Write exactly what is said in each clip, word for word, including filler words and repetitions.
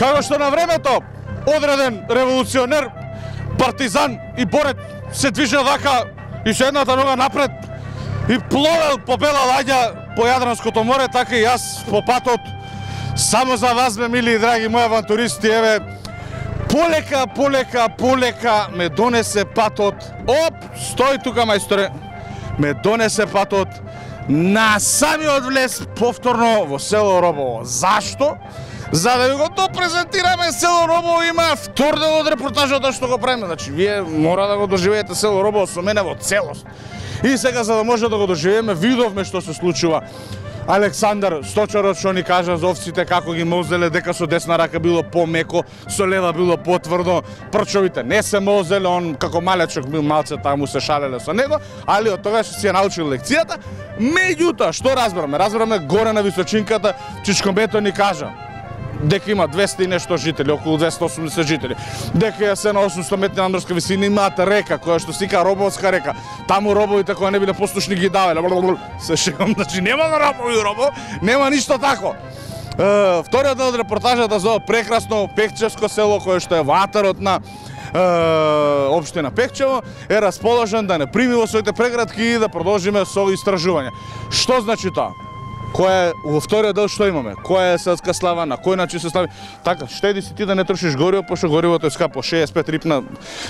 Како што на времето одреден револуционер, партизан и борец се движел вака и со едната нога напред и пловел по бела лаѓа по Јадранското море, така и јас по патот. Само за вас, ме мили и драги мои авантуристи, еве, полека, полека, полека ме донесе патот. Оп, стој тука, мајсторе. Ме донесе патот на самиот влез повторно во село Робово. Зашто? За да ви го допрезентираме село Робово, има втор дел од репортажата што го правиме. Значи, вие мора да го доживеете село Робово со мене во целост. И сега, за да може да го доживееме, видовме што се случува. Александар Сточарот што ни кажа за овците како ги мозеле, дека со десна рака било помеко, со лева било потврдо, прчовите не се мозеле, он како малечок бил малце таму се шалеле со него, али од тогаш си ја научил лекцијата. Меѓутоа, што разбраме? Разбраме горе на височинката, Чичкомбето ни кажа дека има двесте и нешто жители, околу двесте и осумдесет жители. Дека се на осумстотини метри надморска висина имаат река, која што се вика Робовска река. Таму робовите кои не биле послушни ги давале. Се шегам, значи нема на робови у Робово, нема ништо тако. Е, вториот дел од репортажата за прекрасно Пекчевско село, кое што е во атарот на е, општина Пекчево, е расположен да не прими во своите преградки и да продолжиме со истражување. Што значи тоа? Кој е во вториот дел што имаме? Која е селска слава, на кој начин се слави? Така, штеди си ти да не трошиш гориво, пошто горивото е скапо, шеесет и пет рипна.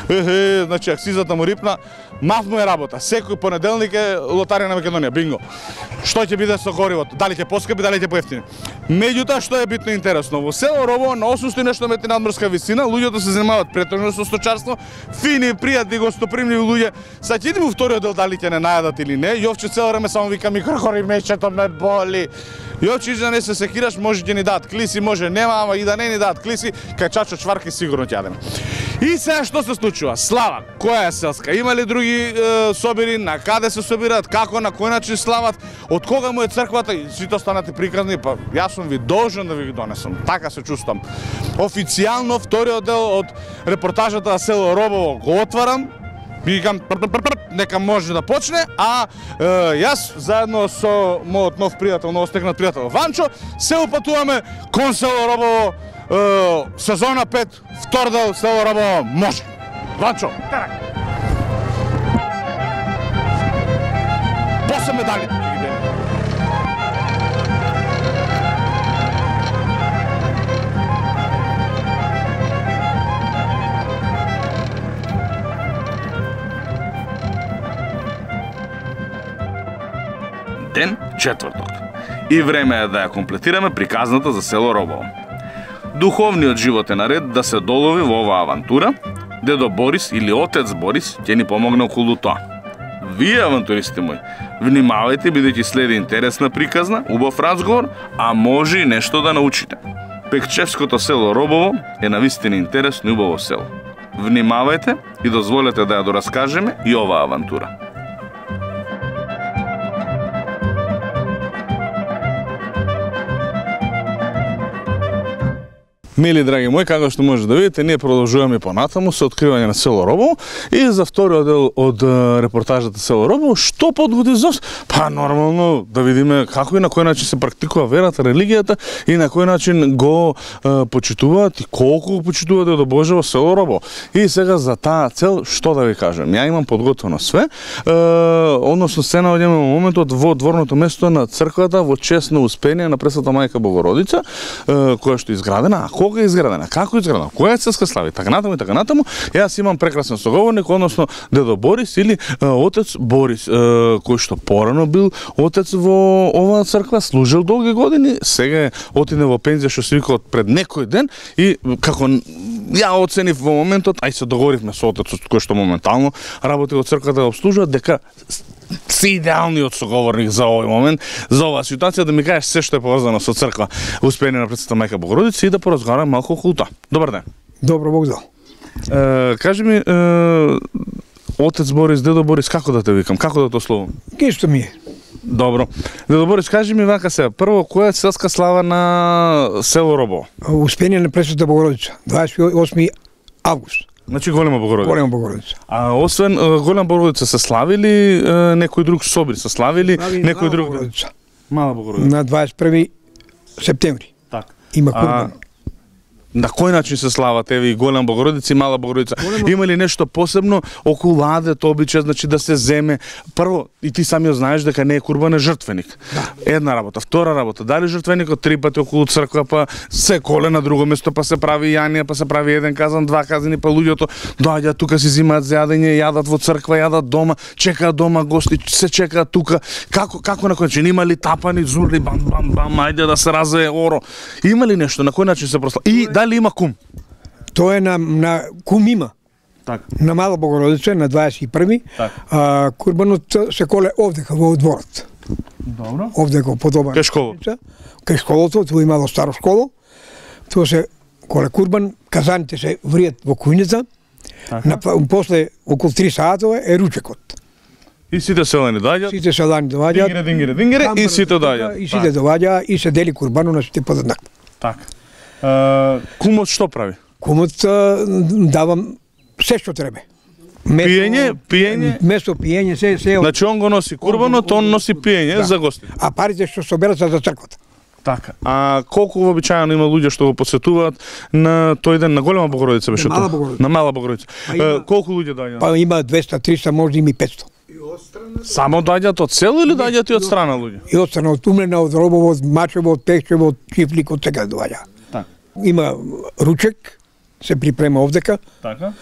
Ехе, значи акцизата му рипна. Мав му е работа. Секој понеделник е лотарија на Македонија, бинго. Што ќе биде со горивото? Дали ќе поскапи, дали ќе поевтини? Меѓутоа, што е битно интересно, во село Робово на осумстотини нешто метри надморска висина, луѓето се занимаваат претежно со сточарство, фини, пријатни, гостопримливи луѓе. Саќе иди во вториот дел дали ќе не најадат или не. Јовче цело време само вика ми кркори мечето ме боли. Јовче да не се секираш, може ќе ни дадат клиси, може нема, ама и да не ни дадат клиси, кај чачо чварки сигурно ќе јадеме. И сега што се случува? Слава, која е селска? Има ли други е, собири, на каде се собираат, како, на кој начин слават, од кога му е црквата и сите останати приказни, па јас сум ви должен да ви ги донесам. Така се чувствам. Официјално вториот дел од репортажата за село Робово го отварам. Викам, нека може да почне, а е, јас заедно со мојот нов пријател, новостекнат пријател Ванчо, се упатуваме кон село Робово, е, сезона пет, втор дел село Робово може. Ванчо, терак. После медали. Ден четврток. И време е да ја комплетираме приказната за село Робово. Духовниот живот е наред да се долови во оваа авантура. Дедо Борис или отец Борис ќе ни помогне околу тоа. Вие, авантуристи мои, внимавајте бидејќи следи интересна приказна, убав разговор, а може и нешто да научите. Пекчевското село Робово е навистина интересно и убаво село. Внимавајте и дозволете да ја дораскажеме и оваа авантура. Мили драги мои, како што може да видите, ние продолжуваме понатаму со откривање на село Робово и за вториот дел од репортажата село Робово, што подгоди за па нормално да видиме како и на кој начин се практикува верата, религијата и на кој начин го е, почитуваат и колку го почитуваат Дедо Боже во село Робово. И сега за таа цел што да ви кажам, ја имам подготвено све, е, односно се наоѓаме во моментот во дворното место на црквата во чест на Успение на Пресвета Мајка Богородица, е, која што е изградена, а кога е изградена, како е изградена, која е селска слава, така натаму и така натаму. Јас имам прекрасен соговорник, односно Дедо Борис или е, отец Борис, е, кој што порано бил отец во оваа црква, служил долги години, сега е отиде во пензија што се вика од пред некој ден и како ја оценив во моментот, ај се договоривме со отецот кој што моментално работи во црквата да обслужува, дека си идеалниот соговорник за овој момент, за оваа ситуација, да ми кажеш се што е поврзано со црква Успение на Пресвета Мајка Богородица и да поразговараме малку околу тоа. Добар ден. Добро, Бог дал. Е, кажи ми, е, отец Борис, Дедо Борис, како да те викам, како да те ословам? Ке што ми е. Добро. Дедо Борис, кажи ми вака сега, прво, која е селска слава на село Робово? Успение на Пресвета Богородица, дваесет и осми август. Значи Голема Богородица. Голема Богородица. А освен Голема Богородица се славили е, некој друг собир, се славили Слави некој друг Богородица. Мала Богородица. На дваесет и први септември. Так. Има курбан. На кој начин се слават еве и Голема Богородица и Мала Богородица? Голема... Има ли нешто посебно околу адет обичај, значи да се земе? Прво, и ти самиот знаеш дека не е курбан, е жртвеник. Да. Една работа, втора работа, дали жртвеникот три пати околу црква, па се коле на друго место, па се прави јанија, па се прави еден казан, два казани, па луѓето доаѓаат тука, си зимаат за јадење, јадат во црква, јадат дома, чекаат дома гости, се чекаат тука. Како како на кој начин? Има ли тапани, зурли, бам бам бам, ајде да се развее оро? Има ли нешто на кој начин се прослава? И дали има кум? Тоа е на, на кум има. Така. На Мала Богородица на дваесет и први. Так. А, курбанот се коле овдека во дворот. Добро. Овдека подобар. Кај школа. Кај школото, тоа имало старо школо. Тоа се коле курбан, казаните се вријат во кујница. На, после околу три саатова е ручекот. И сите селани доаѓаат. Сите селани доаѓаат. Дингере, дингере, дингере и сите доаѓаат. И сите доаѓаат и се дели курбано на сите подеднакво. Така. Uh, кумот што прави? Кумот давам се што треба. Месо, Пиење, пиење. Место пиење, се се. Значи он го носи курбанот, он носи пиење Да. за гости. А парите што соберат се за црквата. Така. А колку вообичаено има луѓе што го посетуваат на тој ден на Голема Богородица беше На Мала тоа? Богородица. На Мала Богородица. Па има- Uh, колку луѓе доаѓаат? Па има двеста, триста, може има и петсто. Само доаѓаат од село или доаѓаат и од страна луѓе? И од страна од Умлена, од Робово, од Мачево, од Пехчево, од Чифлик, од сега доаѓа. Така. Има ручек, се припрема овдека, Така.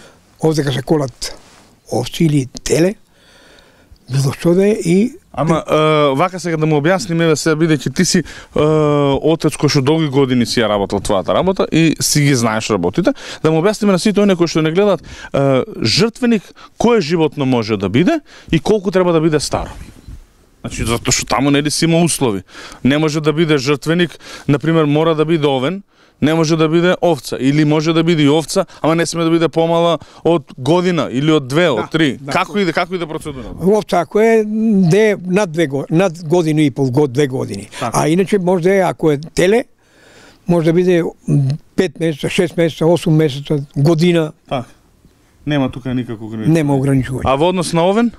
овдека се колат овци или теле, било што да е и Ама uh, вака сега да му објасниме еве се бидејќи ти си uh, отец кој што долги години си ја работел твојата работа и си ги знаеш работите, да му објасниме на сите оние кои што не гледаат uh, жртвеник кое животно може да биде и колку треба да биде старо. Значи затоа што таму нели си има услови. Не може да биде жртвеник, на пример мора да биде овен, не може да биде овца или може да биде и овца, ама не сме да биде помала од година или од две, од три. да. Како иде, како иде процедурата? овца ако е де над две го- над година и пол, год, две години. Така. А иначе може да е ако е теле, може да биде пет месеца, шест месеца, осум месеца, година, Така. Нема тука никако ограничување. нема ограничување. А во однос на овен?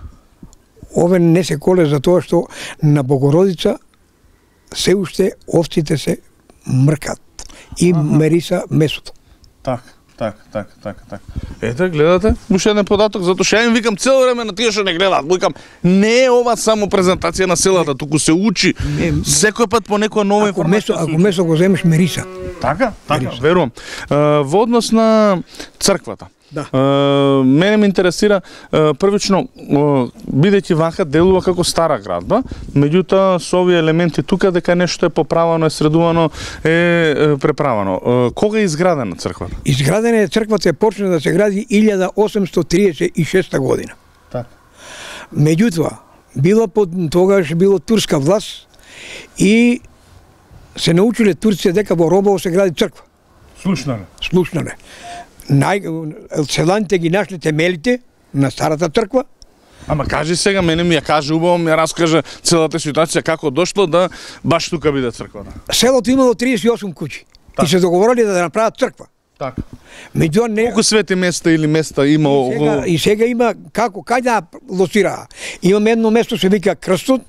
Овен не се коле за тоа што на Богородица се уште овците се мркат и Аха. мериса месото. Так, так, так, так, так. Ете, гледате, уште еден податок, затоа што ја им викам цело време на тие што не гледаат. Викам, не е ова само презентација на селата, туку се учи. Не. Секој пат по некоја нова Ако информација. месо, се ако учи. месо го земеш мериса. Така, така, Мериса. верувам. Uh, во однос на црквата. Да. Uh, мене ме интересира uh, првично uh, бидејќи вака делува како стара градба, меѓутоа со овие елементи тука дека нешто е поправано, е средувано, е, е преправано. Uh, кога е изградена црквата? Изградена е црквата е почна да се гради илјада осемстотини триесет и шеста година. Така. Меѓутоа, било под тогаш било турска власт и се научиле турците дека во Робово се гради црква. Слушнале. Слушнале. Нај селаните ги нашле темелите на старата црква. Ама кажи сега, мене ми ја каже убаво, ми ја раскаже целата ситуација како дошло да баш тука биде црквата. Селото имало триесет и осум куќи Так. и се договориле да направат црква. Така. Меѓутоа не Колку свети места или места има и сега, околу? и сега има како кај да лоцираа. Имаме едно место се вика Крстот,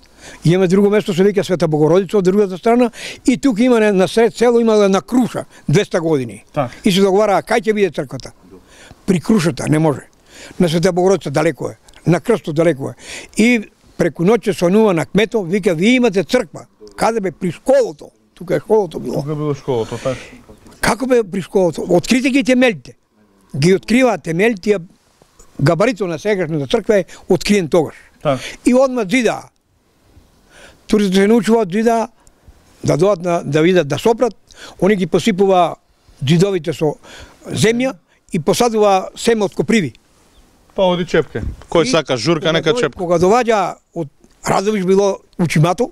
имаме друго место се вика Света Богородица од другата страна и тука има на, на сред село има на Круша двеста години. Так. И се договараа кај ќе биде црквата. При Крушата не може. На Света Богородица далеко е. На Крстот далеко е. И преку ноќе сонува на кметот, вика ви имате црква. Каде бе при школото? Тука е школото било. Тука било школото, така. Како бе при школото? Открите ги темелите. Ги откриваат темелите, габаритот на сегашната црква е откриен тогаш. Така. И одма зидаа. Турците се научуваат зидаа да доат на, да видат да сопрат, они ги посипува зидовите со земја и посадува семе од коприви. Па оди чепке. Кој И сака журка, кога нека доаѓа- чепка. Кога доаѓа од Радовиш било учимато,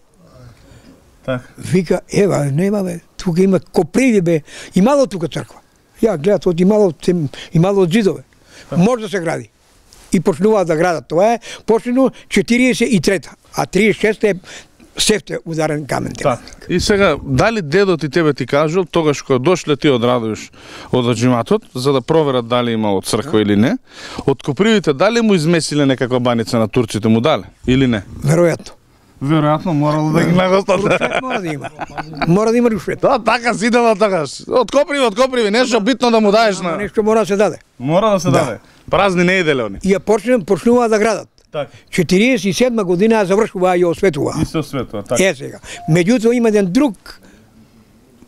Така. вика, ева, нема бе, тука има коприви бе, имало тука црква. Ја гледат од имало, тем- имало од зидове. Може да се гради. И почнуваат да градат. Тоа е почнено четириесет и трета, а триесет и шеста е севте ударен камен. Така. И сега, дали дедот и тебе ти кажал, тогаш кога дошле ти од Радовиш од аџиматот, за да проверат дали имало црква или не, од копривите дали му измесиле некаква баница на турците, му дале или не? Веројатно. Веројатно морало да ги нагостат. Рушвет мора да има. Мора да има рушвет. Да, така си дела такаш. Откоприви, откоприви, нешто битно да му даеш Ама на. нешто мора да се даде. Мора да се Да. даде. Празни не иделе они. И ја почнем почнува да градат. Така. четириесет и седма година ја завршува и осветува. И се осветува, така. Е сега. Меѓутоа има еден друг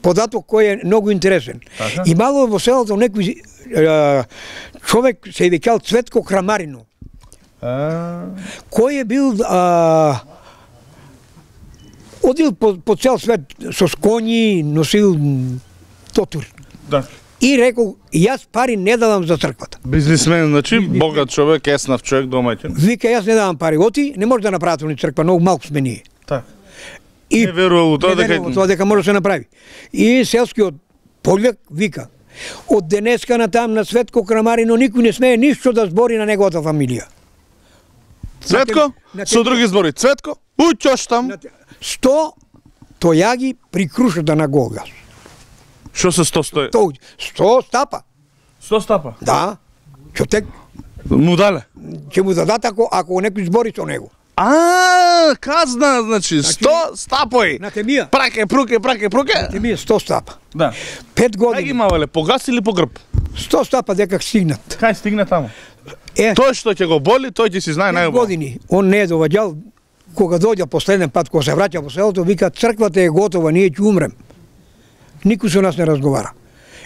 податок кој е многу интересен. Така. Имало во селото некој е, човек се викал Цветко Крамарино, А, кој е бил а, одил по, по цел свет со коњи, носил тотур. да. И рекол, јас пари не давам за црквата. Бизнисмен, значи богат човек, еснав човек, домаќин. Вика, јас не давам пари. Оти, не може да направите ни црква, многу малку сме ние. Така. И Не верувал у тоа не дека верувал тоа дека може да се направи. И селскиот пољак вика, од денеска на там на Светко Крамарино никој не смее ништо да збори на неговата фамилија. Цветко, на со други збори, Цветко, уќош там. сто тојаги при крушата на Голгас. Што се сто стои? Тоа сто стапа. сто стапа. Да. Ќе тек Му дале. ќе му дадат ако ако некој збори со него. А, казна, значи сто стапои. На темија. Праке, пруке, праке, пруке. Те ми е сто стапа. Да. Пет Кај ги години. мавале, по гас или по грб? сто стапа дека стигнат. Кај стигне таму? Е, Тој што ќе го боли, тој ќе си знае пет најубаво. години. Он не е доваѓал. Кога дојде последен пат, кога се враќа во селото, вика, црквата е готова, ние ќе умрем. Никој со нас не разговара.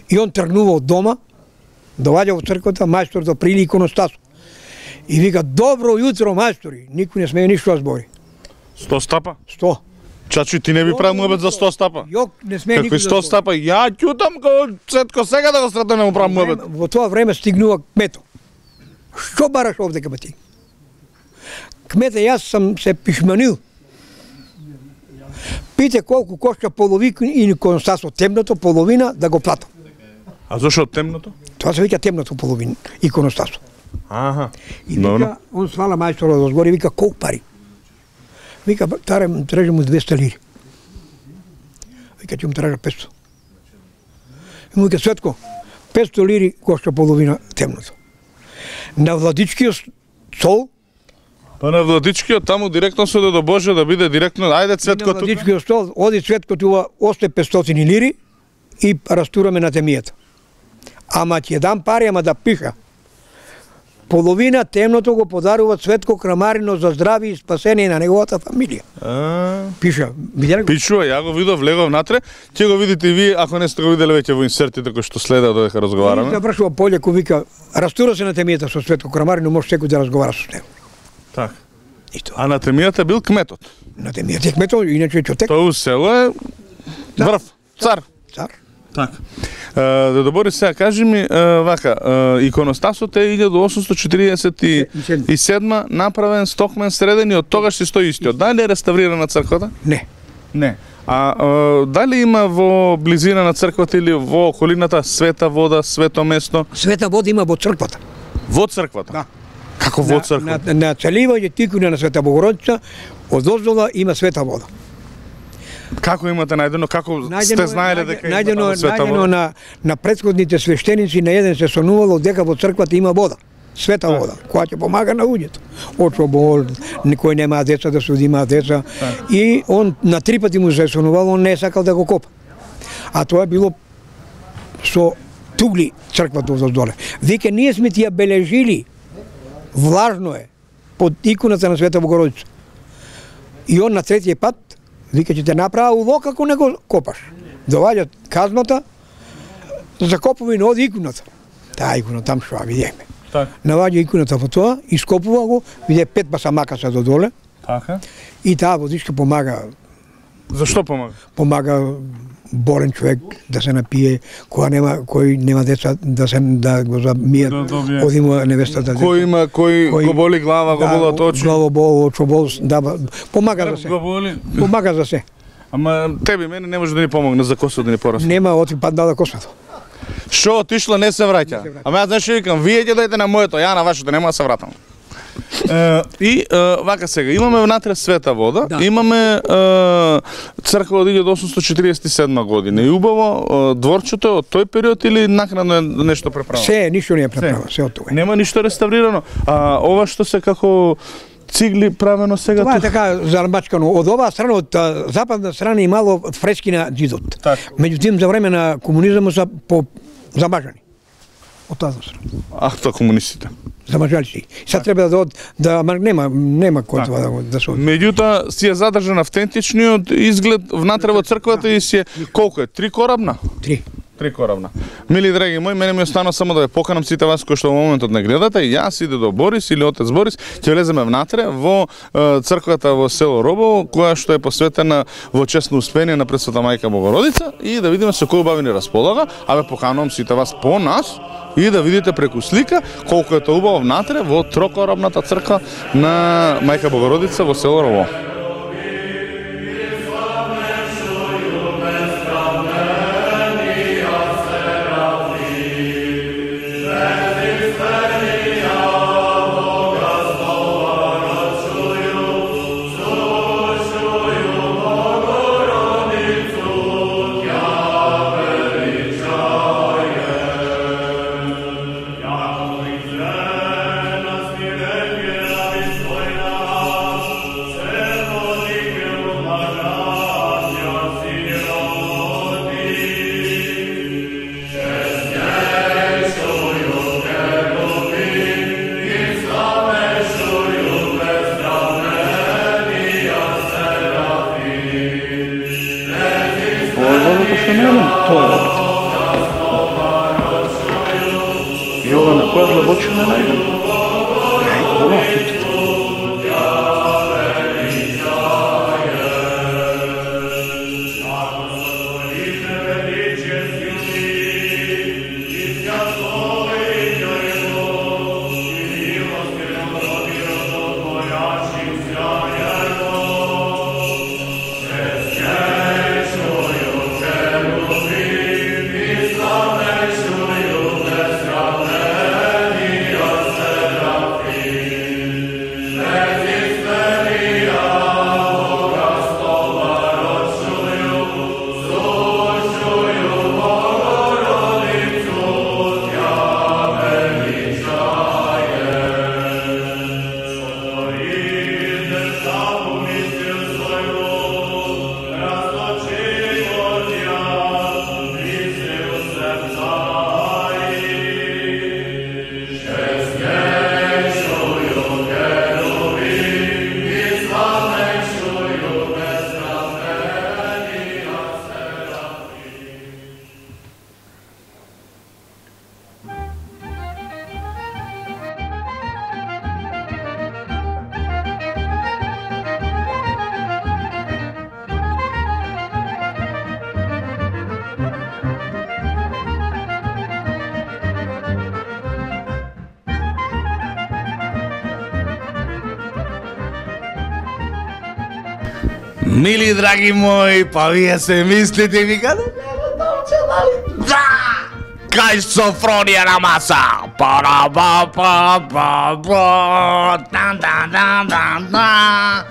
И он тргнува од дома, доаѓа во црквата, мајсторот прили иконостас. И вика, добро јутро, мајстори. Никој не смее ништо да збори. сто стапа? сто. Чачу, ти не би правил муабет за сто стапа? Јок, не смее Какви никој сто да збори. стапа? Ја ќутам како Цетко сега да го сретам да му правам муабет. Во тоа време стигнува кмето. Што бараш овде кај ти? Кмете, јас сам се пишманил. Пите колку кошта половина и иконостасот темното, половина да го платам. А зошто темното? Тоа се вика темното половина иконостасот. Аха. И Добро. вика, он свала мајсторот од згоре, вика, колку пари? Вика, таре, трежа му двеста лири. Вика, ќе му трежа петсто. И му вика, Светко, петсто лири кошта половина темното. На владичкиот стол, Па на Владичкиот таму директно се до Божје да биде директно. Ајде Цветко на тука. владичкиот стол, оди Цветко тука, осте петстотини лири и растураме на темијата. Ама ќе дам пари, ама да пиша. Половина темното го подарува Цветко Крамарино за здраве и спасение на неговата фамилија. А, Пиша, виделе го? Пишува, ја го видов, влегов натре. Ќе го видите и вие, ако не сте го виделе веќе во инсертите кои што следа додека И разговараме. завршува Пољако, вика, растура се на темијата со Цветко Крамарино, може секој да разговара со него. Така. И тоа. А на темијата бил кметот. На темијата е кметот, иначе Чотек, Тоа у село е врв, цар. цар. Така. Да добори сега, кажи ми, е, вака, е, иконостасот е илјада осумстотини четиридесет и седма направен стокмен среден и од тогаш си стои истиот. Дали е реставрирана црквата? Не. Не. А е, дали има во близина на црквата или во околината света вода, свето место? Света вода има во црквата. Во црквата? Да. Како во црквата? На, на, на целивање тикуња на Света Богородица, од оздола има света вода. Како имате најдено? Како сте знаеле дека има најдено, таму света најдено вода? на, на претходните свештеници, на еден се сонувало дека во црквата има вода. Света вода, која ќе помага на луѓето. Очобол, никој нема деца да се одима деца. И он на три пати му се сонувало, он не е сакал да го копа. А тоа е било со тугли црквата од доле. Вика, ние сме ти ја бележили, влажно е, под иконата на Света Богородица. И он на третиот пат, вика, ќе те направа улог ако не го копаш. Доваѓа казната, закопува и на оди иконата. Таа икона там што ја видиме. Така. Наваѓа иконата во тоа, ископува го, виде пет басамака се до доле Така. и таа водичка помага, Зашто помага? помага болен човек да се напие, која нема кој нема деца да се да го замијат, Да добие. одима невестата деца. Кој има, кој, Кој- го боли глава, го болат очи? Главобол, очобол, да, помага за се. Го боли. Помага за се. Ама тебе мене не може да ни помогне за косот да ни порасне. Нема оти паднала космето. Што отишло не се враќа. Ама јас знаеш што викам, вие ќе дојдете на моето, ја на вашето нема да се вратам. Е, и е, вака сега, имаме внатре света вода, Да. имаме е, црква од илјада осумстотини четиридесет и седма година. И убаво е, дворчето е од тој период или накнадно е нешто преправено? Се, ништо не е преправа, се од тоа. Нема ништо реставрирано. А ова што се како цигли правено сега Това е тук? така зармачкано. Од оваа страна, од а, западна страна имало фрески на џидот. Така. Меѓутоа за време на комунизмот се по замажани. Од таа страна. Ах, тоа комунистите. Замажали се. Сега треба да од да ама нема нема кој това да, го- да се оди. Меѓутоа си е задржан автентичниот изглед внатре во црквата и си е колку е? Три корабна? Три. Три корабна. Мили драги мои, мене ми остана само да ве поканам сите вас кои што во моментот не гледате, и јас иде до Борис или отец Борис, ќе влеземе внатре во е, црквата во село Робово, која што е посветена во честно успение на Пресвета Мајка Богородица, и да видиме со кој убави ни располага, а ве поканувам сите вас по нас и да видите преку слика колку е тоа убаво внатре во трокорабната црква на Мајка Богородица во село Робово. Јована, која длабочина е најдена? Мили драги мои, па вие се мислите и викате, да! Кај Софронија на маса! Пара ба па па па дан дан дан дан дан.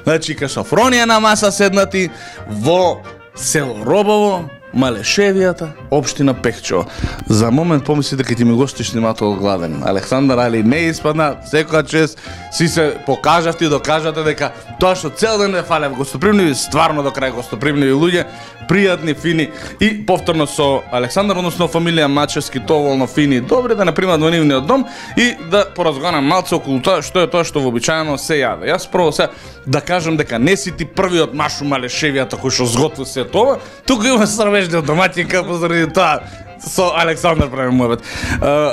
Значи кај Софронија на маса седнати во село Робово, Малешевијата, општина Пехчево. За момент помисли дека ти ми гостиш снимател гладен. Александар Али не испадна, секоја чест си се покажавте и докажате дека тоа што цел ден ве фалев гостопримливи, стварно до крај гостопримливи луѓе, пријатни, фини и повторно со Александар, односно фамилија Мачевски, доволно фини и добри, да не примат во нивниот дом и да поразговарам малце околу тоа што е тоа што вообичаено се јаде. Јас прво се да кажам дека не си ти првиот машу Малешевијата кој што зготви се тоа, тука има срвежлиот домаќинка позаради тоа со Александар правим муабет.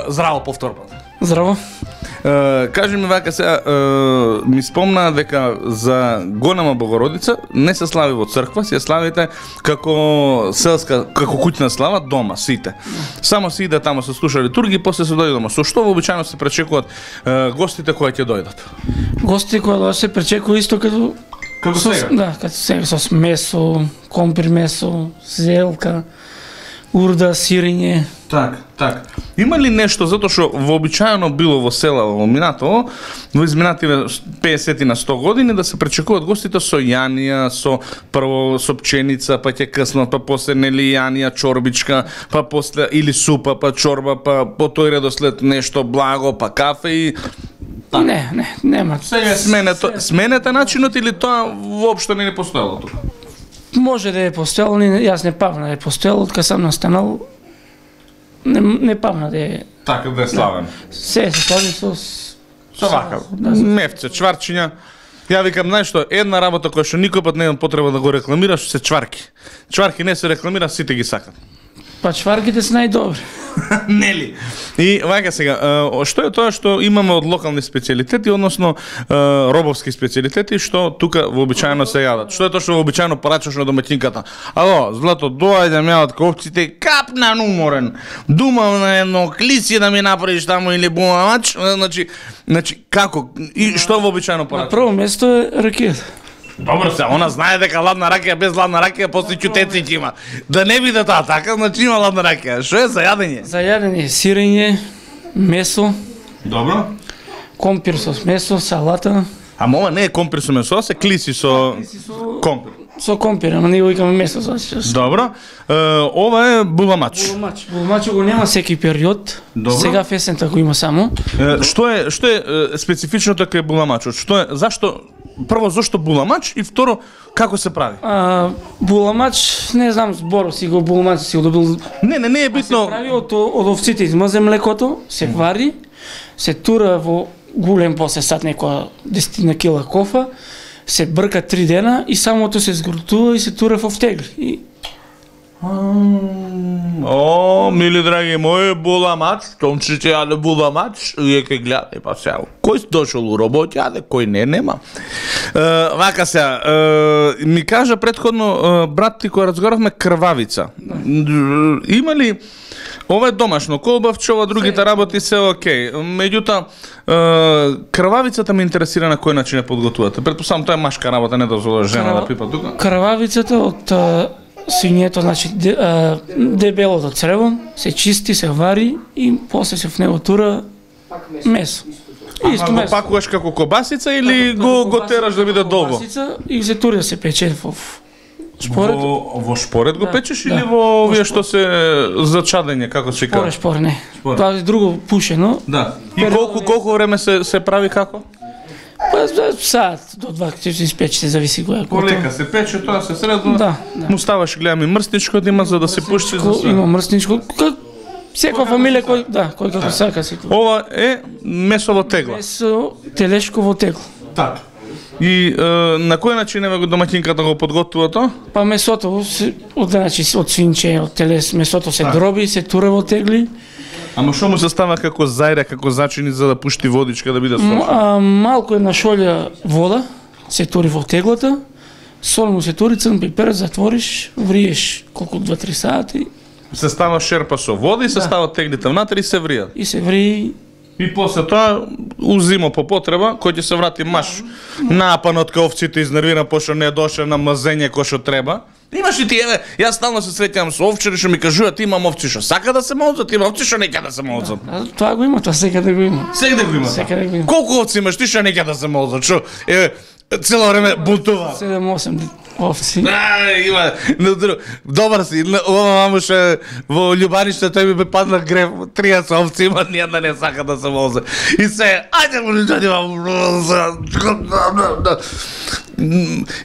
Здраво повтор пат. Здраво. Uh, кажи ми вака сега, uh, ми спомна дека за Голема Богородица не се слави во црква, се славите како селска, како куќна слава дома, сите. Само се иде тамо се слуша литургија, после се дојде дома. Со што вообичаено се пречекуваат uh, гостите кои ќе дојдат? Гости кои дојдат се пречекува исто като Како со, сега? да, като сега со месо, компир месо, зелка, урда, сирење. Так, так. Има ли нешто, затоа што вообичаено било во села во минато, во изминативе песет на сто години да се пречекуваат гостите со јанија, со прво со пченица, па ќе къснат, па после нели јанија, чорбичка, па после или супа, па чорба, па по тој редослед нешто благо, па кафе и Не, не, нема. Сега сменете, сменете начинот или тоа воопшто не е постоело тука? Може да е постоело, не, јас не памна да е постоело, од кога сам настанал, не, не памна да е. Така да е славен. Се се слави со... Со вака, Да, мевце, чварчиња. Ја викам, знаеш што, една работа која што никој пат немам потреба да го рекламираш, се чварки. Чварки не се рекламира, сите ги сакат. Па чварките се најдобри. Нели? И вака сега, е, што е тоа што имаме од локални специјалитети, односно е, робовски специјалитети, што тука вообичаено се јадат? Што е тоа што вообичаено порачаш на домаќинката? Ало, Злато, доаѓам ја од ковците, капнан уморен. Думам на едно клиси да ми направиш таму или буламач, значи, значи како и што вообичаено На порачаш? прво место е ракијата. Добро се, она знае дека ладна ракија без ладна ракија после чутеци ќе има. Да не биде тоа така, значи има ладна ракија. Што е за јадење? За јадење сирење, месо, Добро. компир со месо, салата. Ама ова не е компир со месо, се клиси со со- компир. Со компир, ама ние го викаме месо за сега. Добро. Е, ова е буламач. Булмач. Булмач го нема секи период. Добро. Сега в есента го има само. Е, што е што е, е специфичното кај буламачот? Што е зашто прво зашто буламач и второ како се прави? А, буламач, не знам зборо си го буламач си го добил. Не, не, не е Се битно. прави од, од овците, измазе млекото, се вари, се тура во голем после сад некоја десетина кила кофа, се брка три дена и самото се згрутува и се тура во втегли. И О, мили драги мои, буламач, томчите јаде буламач, вие ке гледаде, па сега, кој дошол у робот јаде, кој не, нема. Е, вака сега, е, ми кажа предходно е, брат ти кој разговаравме крвавица. Има ли ова е домашно колбавче, ова другите работи се окей. Меѓутоа, е, крвавицата ме интересира на кој начин ја подготвувате. Предпоставам тоа е машка работа, не дозвола жена да пипа тука. крвавицата од а, свињето, значи де, а, дебелото црево, се чисти, се вари и после се в него тура месо. Исто Ама го месо. пакуваш како кобасица или Како го, го кобасица, тераш да биде долго? кобасица и се тури да се пече во шпоред. Во, во шпоред го Да, печеш да. или во овие што се за чадење, како се Шпоре, кажа? шпоре, не. Шпоре. Тоа е друго пушено. Да. И колку колку време се се прави како? Па за саат до два ќе се испече, зависи која е. Полека се пече, тоа се средно. Да, да. Му ставаш, гледам и мрстничко да има за да се пушти за све. Има мрсничко. Как секоја фамилија кој, да, кој како сака секој. Ова е месово тегла. Месо телешково тегло. Така. И е, на кој начин еве го домаќинката го подготвува тоа? Па месото се од значи од свинче, од телес, месото се дроби, се тура во тегли. Ама што му се става како зајре, како зачини за да пушти водичка да биде М, сочно? а, малку една шолја вода се тури во теглата. Сол му се тури, црн пипер, затвориш, вриеш колку два-три сати Се става шерпа со вода и се Да. стават теглите внатре и се вријат. и се ври. И после тоа узимо по потреба, кој ќе се врати маш напан од овците изнервиран пошто не доше на мазење кој што треба. Имаш и ти, еве, јас стално се среќавам со овчари што ми кажуваат имам овци што сака да се молзат, има овци што не ќе да се молзат. А, тоа го има, тоа секаде го има. Секаде го има. Секаде го има. Колку овци имаш ти што не ќе да се молзат? Што еве цело време бунтува. седем-осем овци. А, има, на друг, добар си, на- ова мамуше во љубаниште тој ми бе падна грев, триесет овци има, ниједна не сака да се возе. И се, ајде го да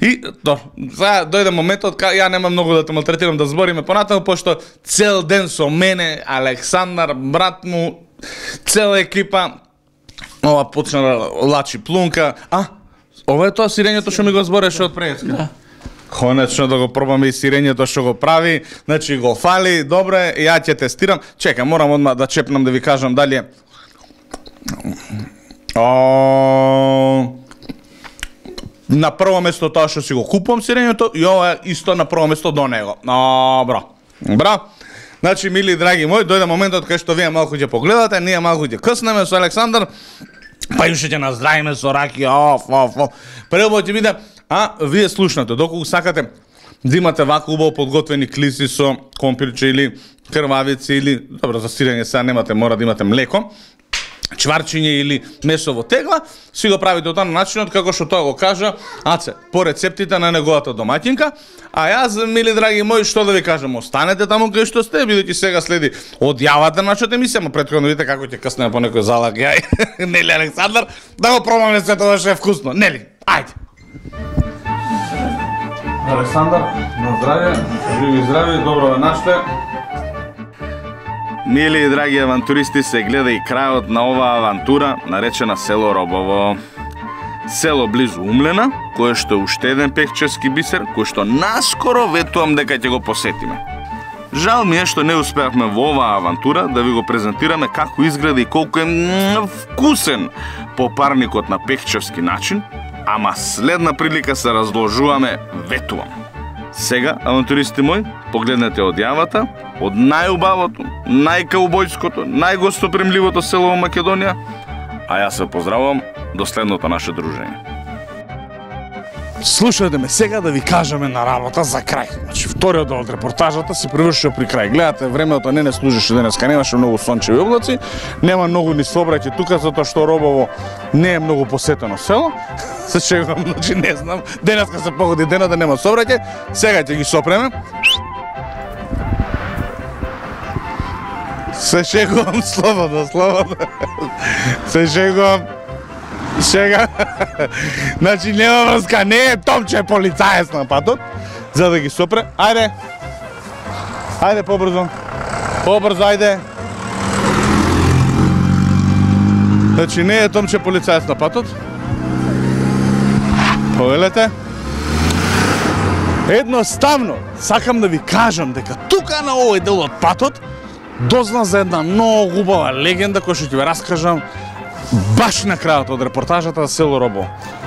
И, до, сега дојде моментот кај ја нема многу да те малтретирам да збориме понатаму, пошто цел ден со мене, Александар, брат му, цела екипа, ова почна да лачи плунка, а, ова е тоа сирењето што ми го збореше од преска. Да. Конечно да го пробаме и сирењето што го прави, значи го фали, добро е, ја ќе тестирам. Чека, морам одма да чепнам да ви кажам дали е. О, на прво место тоа што си го купувам сирењето и ова е исто на прво место до него. Добро. Добро. Значи, мили драги мои, дојде моментот кај што вие малку ќе погледате, ние малку ќе къснеме со Александар, па уште ќе наздравиме со ракија, оф, оф, оф. Прво ќе биде, а вие слушнате, доколку сакате да имате вака убаво подготвени клиси со компирче или крвавици или, добро, за сирење сега немате, мора да имате млеко. чварчиње или месо во тегла, си го правите од на начинот како што тоа го кажа Аце, по рецептите на неговата домаќинка. А јас, мили драги мои, што да ви кажам, останете таму кај што сте, бидејќи сега следи одјавата на нашата емисија, ама претходно видите како ќе каснеме по некој залак ја Нели Александар, да го пробаме се тоа што е вкусно. Нели, ајде. Александар, на здравје, живи здрави, добро ве наште. Мили и драги авантуристи, се гледа и крајот на оваа авантура, наречена село Робово. Село близу Умлена, кое што е уште еден пехчевски бисер, кој што наскоро ветувам дека ќе го посетиме. Жал ми е што не успеавме во оваа авантура да ви го презентираме како изгледа и колку е вкусен попарникот на пехчевски начин, ама следна прилика се разложуваме, ветувам. Сега, авантуристи мои, погледнете одјавата од најубавото, најкаубојското, најгостопримливото село во Македонија, а јас се поздравувам до следното наше дружење. Слушајте ме сега да ви кажеме на работа за крај. Значи, вториот дел од репортажата се привршува при крај. Гледате, времето не не служеше денеска, немаше многу сончеви облаци, нема многу ни сообраќај тука, затоа што Робово не е многу посетено село. Се шегувам, значи не знам, денеска се погоди денот да нема сообраќај, сега ќе ги сопреме. Се шегувам, слободно, слободно. Се шегувам. Шега. Значи нема врска, не е Томче полицаец на патот, за да ги сопре. Ајде. Ајде побрзо. Побрзо, ајде. Значи не е Томче полицаец на патот. Повелете. Едноставно, сакам да ви кажам дека тука на овој дел од патот дозна за една многу убава легенда која што ќе ви раскажам баш на крајот од репортажата за село Робово,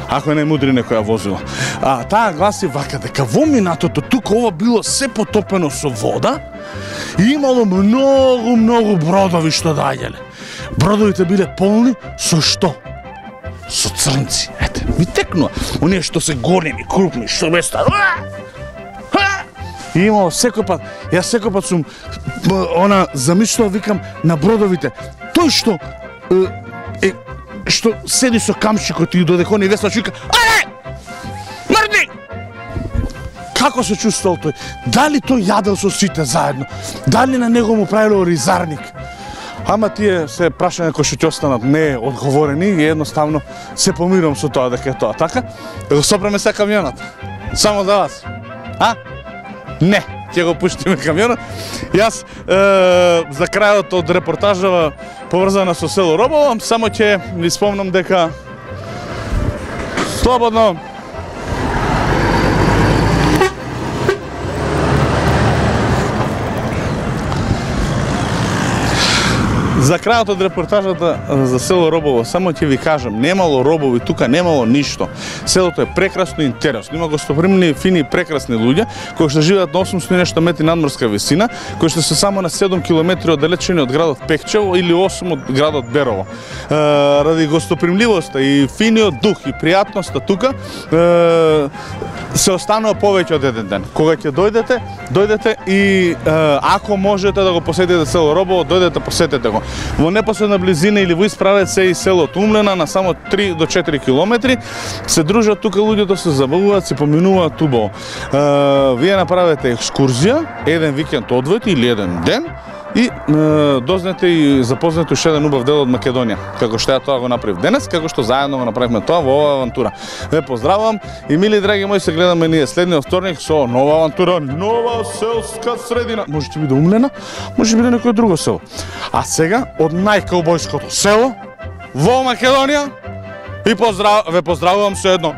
ако не мудри некоја возила. А таа гласи вака дека во минатото тука ова било се потопено со вода и имало многу многу бродови што доаѓале. Бродовите биле полни со што? Со црнци. Ете, ми текнува. Оние што се големи, крупни, што без ста. И имало секој пат, јас секој пат сум она замислував, викам на бродовите, тој што е, што седи со камчикот и додека они веслач вика ајде! Мрди! Како се чувствувал тој? Дали тој јадел со сите заедно? Дали на него му правило ризарник? Ама тие се прашања кои што ќе останат не одговорени и едноставно се помирам со тоа дека е тоа така. Да го сопреме се камионот. Само за вас. А? Не, ќе го пуштиме камионот. Јас е, за крајот од репортажава поврзана со село Робово, само ќе ви спомнам дека слободно за крајот од репортажата за село Робово, само ќе ви кажам, немало робови тука, немало ништо. Селото е прекрасно и интересно. Има гостопримни, фини и прекрасни луѓе кои што живеат на осумстотини и нешто метри надморска висина, кои што се само на седум километри оддалечени од градот Пехчево или осум од градот Берово. Е, ради гостопримливоста и финиот дух и пријатноста тука е, се останува повеќе од еден ден. Кога ќе дојдете, дојдете и е, ако можете да го посетите село Робово, дојдете посетете го. Во непосредна близина или во исправец се и селото Умлена на само три до четири километри. Се дружат тука луѓето, се забавуваат, се поминуваат убаво. Е, вие направете екскурзија, еден викенд одвојте или еден ден и е, дознете и запознате уште еден убав дел од Македонија. Како што ја тоа го направив денес, како што заедно го направивме тоа во оваа авантура. Ве поздравувам и мили драги мои, се гледаме ние следниот вторник со нова авантура, нова селска средина. Може ќе биде Умлена, може биде некој друго село. А сега од најкаубојското село во Македонија и поздрав... ве поздравувам со едно.